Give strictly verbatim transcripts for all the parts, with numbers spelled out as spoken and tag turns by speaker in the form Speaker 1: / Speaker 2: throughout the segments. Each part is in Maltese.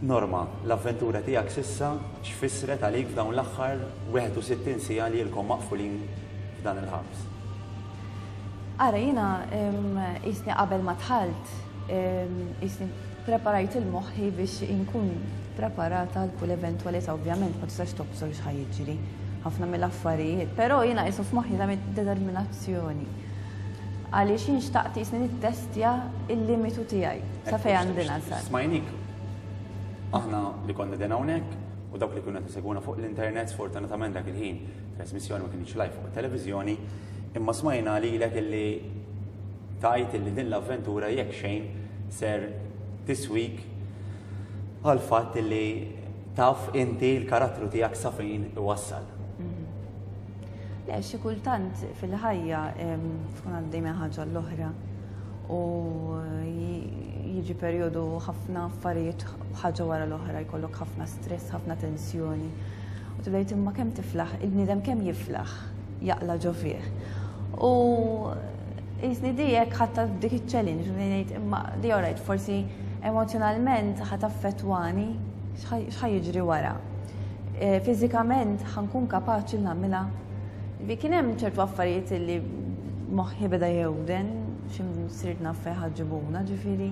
Speaker 1: Norma, l-avventura tiegħek s'issa x'fissret għalik f'dawn l-aħħar wieħed u sittin siegħa li ilkom maqfulin f'dan il-ħabs?
Speaker 2: Ara, jiena qisni qabel ma dħalt, qisni preparajt il-moħħi biex inkun preparata għal kull eventwalità, ovvjament ma tistax tobsor x'ħa jiġri ħafna mill-affarijiet, però jiena qisu f'moħħi tagħmel determinazzjoni. Għaliex jien xtaqt qisni nittestja il-limitu tiegħi sa fejn għandi nasal.
Speaker 1: Smajnik, aħna li konna din hawnhekk u dawk li kienu qed isegwuna fuq l-internet, sfortunatament dak il-ħin trasmissjoni ma kienx live fuq it-televiżjoni, imma smajna lilek illi tajt illi din l-avventura jekk xejn ser tiswik għal fatt illi taf inti l-karattru tiegħek sa fejn iwassal.
Speaker 2: Le, xi kultant fil-ħajja tkun għaddej minn ħaġa l-oħra u jiġi perjodu ħafna affarijiet ħaġa wara l-oħra, jkollok ħafna stress, ħafna tensjoni. U tibda tgħid imma kemm tiflaħ, il-bniedem kemm jiflaħ jaqla ġo fih. U jisni dijek ħatta dik iċ-challenge, u ngħid imma di alright, forsi emozjonalment ħa taffettwani x'ħa jiġri wara. E, fiżikament ħankun kapaċi nagħmilha. Vi kien hemm ċertu affarijiet li moħħi beda jewden, xi sirt naf fejn ħaġibuna, ġifieri.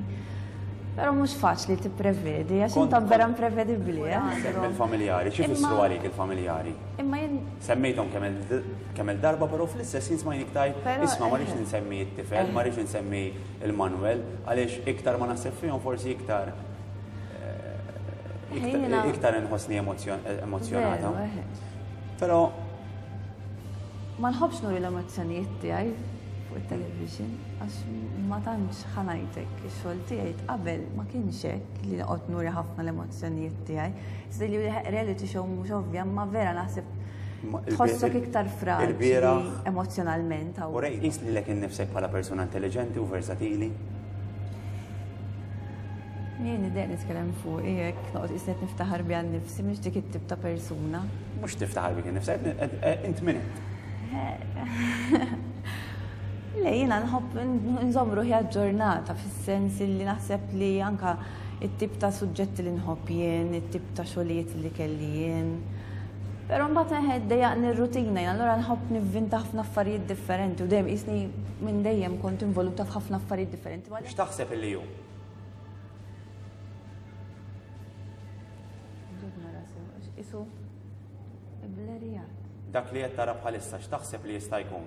Speaker 2: Però mhux faċli tipprevedi, għax inta vera imprevedibbli, eh?
Speaker 1: Semmi l-familjari, xi fissru għalik il-familjari?
Speaker 2: Imma jien
Speaker 1: Semmejthom kemm il-darba, però fl-istess jien smajnik tajt, isma' ma rridx insemmi t-tifel, ma rridx insemmi il-Manuel, għaliex iktar ma naħseb fihom forsi iktar eh, iktar inħossni emozjonata. Però
Speaker 2: ma nħobbx nuri l-emozzjonijiet tiegħi fuq it-television, għax ma tantx ħanajtek ix-xogħol tiegħi qabel ma kienx hekk li noqgħod nuri ħafna l-emozzjonijiet tiegħi. Iżda li reality show mhux ovvja, ma vera naħseb tħossok iktar fraġli emozjonalment.
Speaker 1: U rej, qis lilek innifsek bħala persuna intelligenti u versatili?
Speaker 2: Jien idejq nitkellem fuq hekk, noqgħod qisni qed niftaħar biha nnifsi, mhix dik it-tip ta' persuna.
Speaker 1: Mhux tiftaħar bik innifsek, int min int?
Speaker 2: Le, jiena nħobb nżomm ruħi aġġornata fis-sens li naħseb li anka it-tip ta' suġġetti li nħobb jien, it-tip ta' xogħlijiet li kelli jien. Però mbagħad eħed dejjaqni r-rutina, jien allura nħobb nivvinta ħafna affarijiet differenti u dejjem qisni minn dejjem kont involuta f'ħafna affarijiet differenti.
Speaker 1: X'taħseb illi hu?
Speaker 2: Isu blerjat.
Speaker 1: Dak li qed tara bħalissa x'taħseb li jista' jkun?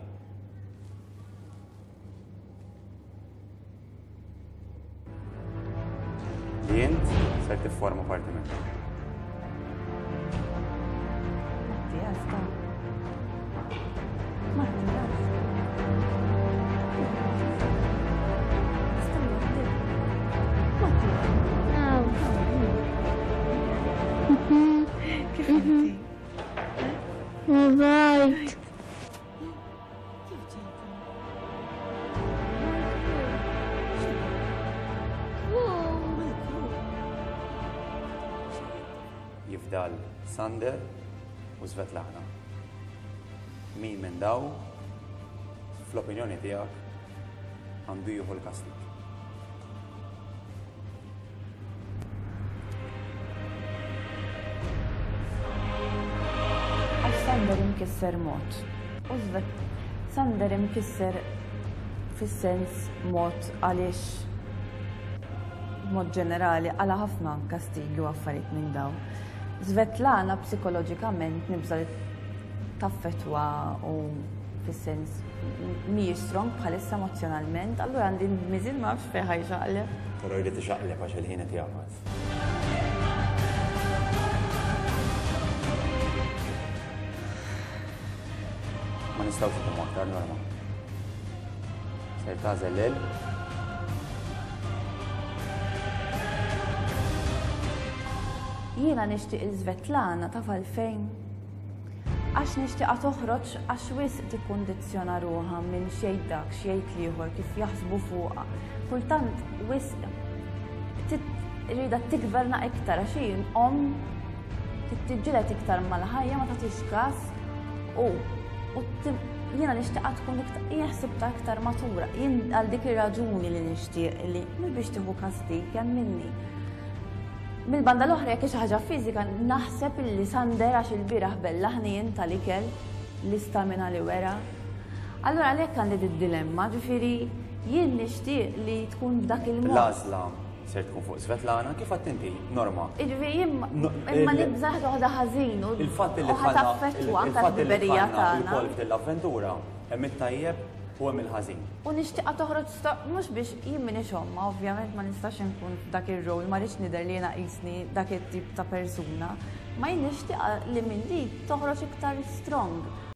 Speaker 1: Li int ser tifforma parti minnu.
Speaker 2: Mattias, ta' Mattias. Kif inti?
Speaker 3: Right.
Speaker 2: Kif ġejta?
Speaker 1: Jifdal Sander u Svetlana. Min minn daw, fl-opinjoni tiegħek, għandu jieħu l-kastig?
Speaker 2: Għax Sander imkisser mod. U Sander imkisser fis-sens mod għaliex mod ġenerali għala ħafna kastigi u affarijiet minn dawn. Svetlana psikoloġikament nibża li taffetwa u fis-sens mhijiex strong bħalissa emozjonalment, allura għandi miżin ma nafx fejn ħajxaqleb.
Speaker 1: Però jrid ixaqleb għax il-ħin qed jagħfas. Ma nistgħux nagħmlu aktar Norma. Ser tagħżel lil
Speaker 2: Jiena nixtieq il-Svetlana taf għalfejn. Għax nixtieqha toħroġ għax wisq tikkundizzjona ruħha minn xejn dak, xejn ieħor kif jaħsbu fuqha. Kultant wisq rida tikverna iktar għax hi omm tittiġġieled iktar mal-ħajja ma tagħtix każ u, u jiena nixtieqha tkun iktar, jien ħsibtha iktar matura. Jien għal dik ir-raġuni li nixtieq li mhux biex tieħu kastig hemm minni. Mill-banda l-oħra, jekk xi ħaġa fiżika, naħseb illi Sander, għax il-bieraħ bella ħnien tal-ikel, l-istamina li wera. Allura għalhekk għandi d-dilemma, ġifieri jien nixtieq li tkun b'dak il-mod.
Speaker 1: L-għażla ser tkun fuq Svetlana, kif għedt inti, Norma.
Speaker 2: Ġifieri jien imma nibża' ħaġa ħażin u
Speaker 1: Il-fatt li
Speaker 2: u ħa taffettwa anke
Speaker 1: il-fatt li
Speaker 2: l-ħbiberija
Speaker 1: dħalna
Speaker 2: tagħna.
Speaker 1: il-kol f'dil-avventura, hemm it-tajjeb u hemm il-ħażin.
Speaker 2: U nixtieqha toħroġ sta- mhux biex jien m'iniex omma, ovvjament ma nistax inkun f'dak ir-rol, ma rridx nidher li jiena qisni dak it-tip ta' persuna. Ma jien nixtieqha li minn di toħroġ iktar strong.